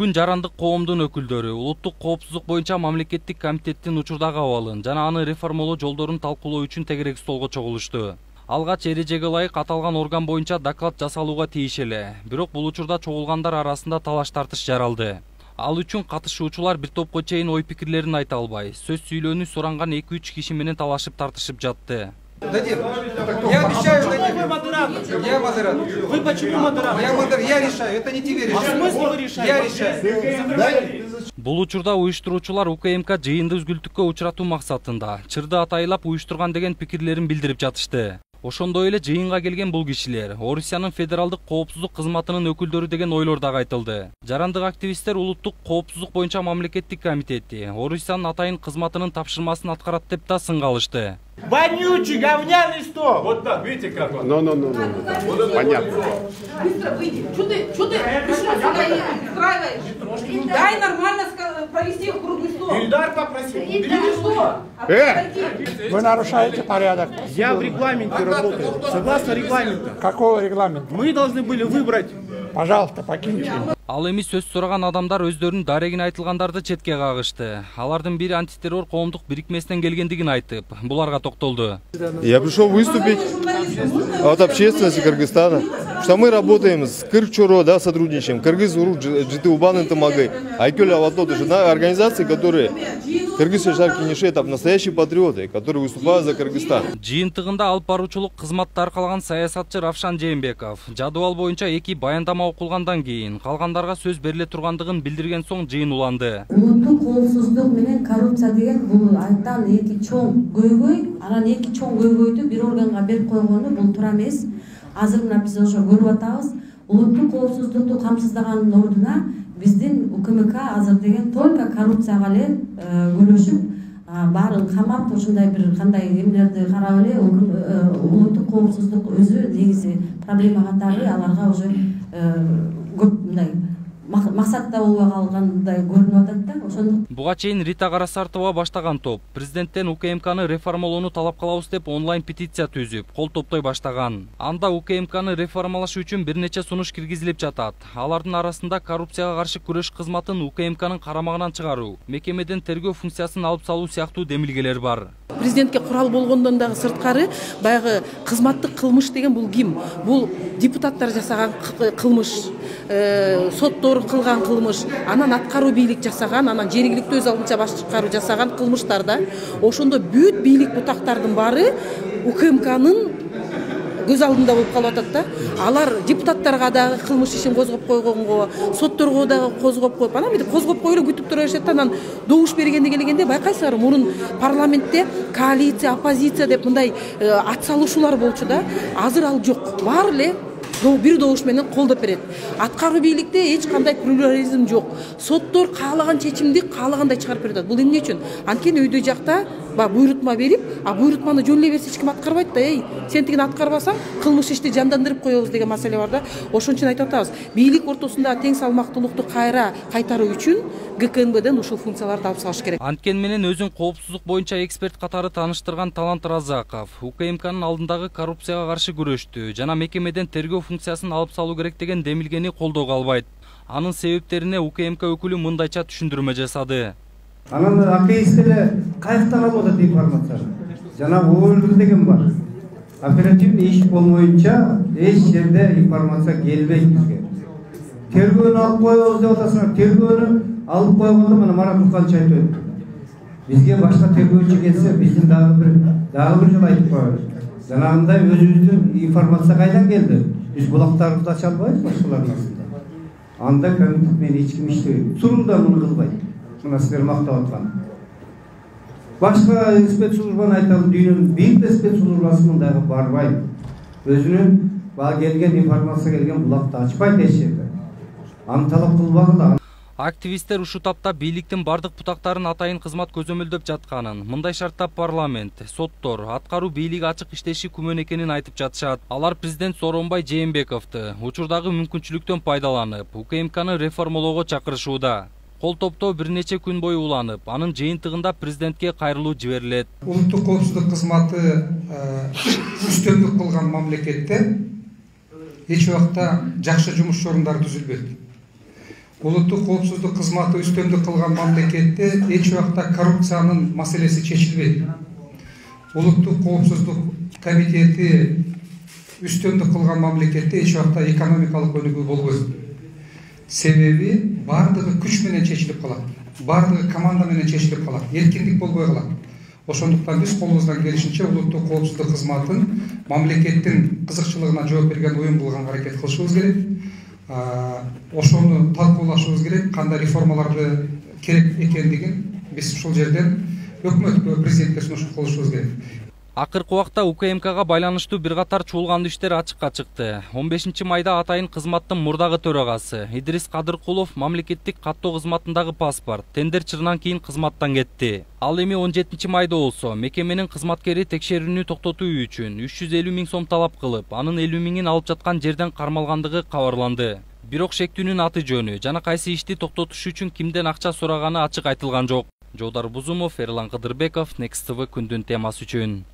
Бүгүн жарандык коомдун өкүлдөрү улуттук коопсуздук боюнча мамлекеттик комитеттин учурдагы абалын жана аны реформалоо жолдорун талкуулоо үчүн тегерек столго чогулушту. Алгач эрежеге ылайык аталган орган боюнча доклад жасалууга тийиш эле. Бирок бул учурда чогулгандар арасында талаш тартыш жаралды. Ал үчүн катышуучулар бир топко чейин ой пикирлерин айта албай, сөз сүйлөөнү суранган 2-3 киши менен талашып тартышып жатты. Дадим. Я обещаю, дадим. Я модератор. Вы почему модератор? Я решаю, это не тебе решать. А смысл вы решаете? Я решаю. Бул учурда уюштуруучулар УКМК жыйынды үзгүлтүккө учуратуу максатында чырды атайлап уюштурган деген пикирлерин билдирип жатышты. Ошондой эле жыйынга келген бул кишилер Орусиянын федералдык коопсуздук кызматынын өкүлдөрү деген ойлор дагы айтылды. Жарандык активисттер улуттук коопсуздук боюнча мамлекеттик комитети Орусиянын атайын кызматынын тапшырмасын аткарат деп да сынга алышты. Вонючий, говняный стол! Вот так, видите как он? Понятно. Быстро выйди. Что ты пришел сюда и устраиваешь? Дай нормально провести круглый стол. Ильдар попросил. Ты что? Вы нарушаете порядок. Я в регламенте работаю. Согласно регламенту. Какого регламента? Мы должны были выбрать. Пожалуйста, покиньте. Ал эми сөз сураган адамдар өздөрүнүн дарегин айтылгандарды четке кагышты. Алардын бири антитеррор коомдук бирикмесинен келгендигин айтып, буларга токтолду. Я пришел выступить от общественности Кыргызстана, что мы работаем с Кырчоро, да, сотрудничаем, Кыргыз-Урук, Житыубан, Интамагай, Айкёля, Аватот, это организации, которые Кыргыз Шашар Кенешетов, настоящие патриоты, которые выступают за Кыргызстан. Жыйынтыгында алып баруучулук кызматты аркалаган саясатчы Равшан Жээнбеков жадыбал боюнча 2 баяндама окулгандан кийин калгандарга сөз бериле тургандыгын билдирген соң жыйын уланды. Улуттук коопсуздук менен коррупция деген бул айттан эки чоң көйгөй, анан эки чоң көйгөйдү бир органга берип койгону бул туура эмес. Азыр мына биз ошо көрүп атабыз. Улуттук коопсуздукту камсыздаганын ордуна биздин УКМК азыр деген только коррупцияга эле күрөшүп, баарын камап, ушундай бир кандай эмелерди карап эле улуттук коопсуздук өзү негизи проблема катары аларга уже көп мындай максатта болбой калгандай көрүнүп атат да. Ошондук Буга чейин Рита Карасартова баштаган топ президенттен УКМКны реформалоону талап кылабыз деп онлайн петиция түзүп, кол топтой баштаган. Анда УКМКны реформалаш үчүн бир нече сунуш киргизилип жатат. Алардын арасында коррупцияга каршы күрөш кызматын УКМКнын карамагынан чыгаруу, мекемеден тергөө функциясын алып салуу сыяктуу демилгелер бар. Президентке курал болгондон дагы сырткары баягы кызматтык кылмыш деген бул ким? Бул депутаттар жасаган кылмыш, соттор кылган кылмыш, анан аткаруу бийлик жасаган, анан жергиликтүү өз алдынча башкаруу жасаган кылмыштарда. Ошондо бүт бийлик бутактардын баары УКМКнын көз алдында болуп калып атат да. Алар депутаттарга дагы кылмыш ишин козгоп койгонго, сотторго дагы козгоп коюп, анан мынтип козгоп коюп эле күтүп тура беришет да. Анан добуш бергенде келгенде байкайсыңар, мурун парламентте коалиция, оппозиция деп мындай ат салышуулар болчу да. Азыр ал жок. Баары эле бир добуш менен колдоп берет. Аткаруу бийликте эч кандай плюрализм жок. Соттор каалаган чечимди каалагандай чыгарып берет. Бул эмне үчүн? Анткени өйдө жакта буйрутма берип, буйрутманы жөн эле берсе эч ким аткарбайт да. Сен тигин аткарбасаң, кылмыш ишти жандандырып коебуз деген маселе бар да. Ошон үчүн айтып атабыз. Бийлик ортосунда тең салмактуулукту кайтаруу үчүн ГКНБден ушул функцияларды алып салыш керек. Анткен менен өзүн коопсуздук боюнча эксперт катары тааныштырган Талант Разаков УКМКнын алдындагы коррупцияга каршы күрөштү жана мекемеден тергөө функциясын алып салуу керек деген демилгени колдоого албайт. Анын себептерине УКМК өкүлү мындайча түшүндүрмө жасады. Анан АКС-те каяктан алып атат информацияны? Жана ОЛ деген бар. Оперативный иш болмоюнча эч жерде информация келбейт бизге. Тергөөнү алып коебуз деп атасыңар. Тергөөнү алып койгондо мына Марат Уканчы айтып өттү. Бизге башка тергөөчү келсе, биздин дагы бир жолу айтып коебуз. Жанагындай өзүбүздүн информация кайдан келди? Биз булактарыбызды ача албайбыз башкалардын астында. Анда комитет менен эч ким иштебейт. Сурун да муну кылбайт. Мына силер мактап аткан. Башка спецслужбаны айталы, дүйнөнүн бир спецслужбасынын дагы барбайт. Өзүнүн келген информация келген булакты ачпайт эч жерде. Аны талап кылбагыла. Активисттер ушу тапта бийликтин бардык бутактарын атайын кызмат көзөмөлдөп жатканын, мындай шартта парламент, соттор, аткаруу бийлиги ачык иштеши күмөн экенин айтып жатышат. Алар президент Сооронбай Жээнбековду учурдагы мүмкүнчүлүктөн пайдаланып, УКМКны реформалоого чакырышууда. Кол топто бир нече күн бою уланып, анын жыйынтыгында президентке кайрылуу жиберилет. Улуттук коопсуздук кызматы үстөмдүк кылган мамлекетте эч убакта жакшы жумуш орундары түзүлбөйт. Улуттук коопсуздук кызматы үстөмдүк кылган мамлекетте эч убакта коррупциянын маселеси чечилбейт. Улуттук коопсуздук комитети үстөмдүк кылган мамлекетте эч убакта экономикалык өнүгүү болбойт. Себеби бардыгы күч менен чечилип калат. Бардыгы команда менен чечилип калат. Эркиндик болбой калат. Ошондуктан биз колубуздан келишинче улуттук коопсуздук кызматын мамлекеттин кызыкчылыгына жооп берген уюм кылганга аракет кылышыбыз керек. Ошону талкуулашыбыз керек, кандай реформаларды керек экендигин биз ушул жерден өкмөткө, президентке сунуш кылышыбыз керек. Акыркы убакта УКМКга байланыштуу бир катар чуулгандуу иштер ачыкка чыкты. 15 майда атайын кызматтын мурдагы төрагасы Идрис Кадыркулов мамлекеттик каттоо кызматындагы паспорт тендер чырынан кийин кызматтан кетти. Ал эми 17 майда болсо мекеменин кызматкери текшерүүнү токтотуу үчүн 350 000 сом талап кылып, анын 50 000-ин алып жаткан жерден кармалгандыгы кабарланды. Бирок шектүүнүн аты жөнү жана кайсы ишти токтотуш үчүн кимден акча сураганы ачык айтылган жок. Жолдар Бузумов, Эрлан Кыдырбеков, Next TV күндүн темасы үчүн.